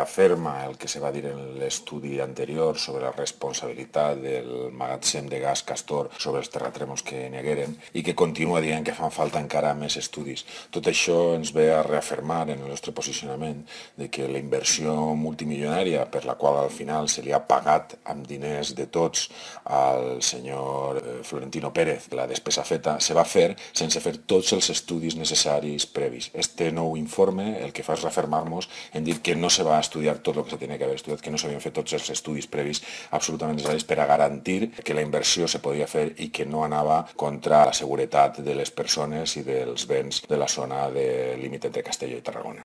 reafirma el que se va dir en l'estudi anterior sobre la responsabilitat del magatzem de gas Castor sobre els terratrèmols que negueren i que continua dient que fan falta encara més estudis. Tot això ens ve a reafirmar en el nostre posicionament de que la inversió multimilionària per la qual al final se li ha pagat amb diners de tots al senyor Florentino Pérez, la despesa feta, se va fer sense fer tots els estudis necessaris previs. Este nou informe el que fa és reafirmar-nos en dir que no se va estudiar tot el que se tenia que haver estudiat, que no s'havien fet tots els estudis previs absolutament necessaris per a garantir que la inversió se podia fer i que no anava contra la seguretat de les persones i dels béns de la zona de límit entre Castelló i Tarragona.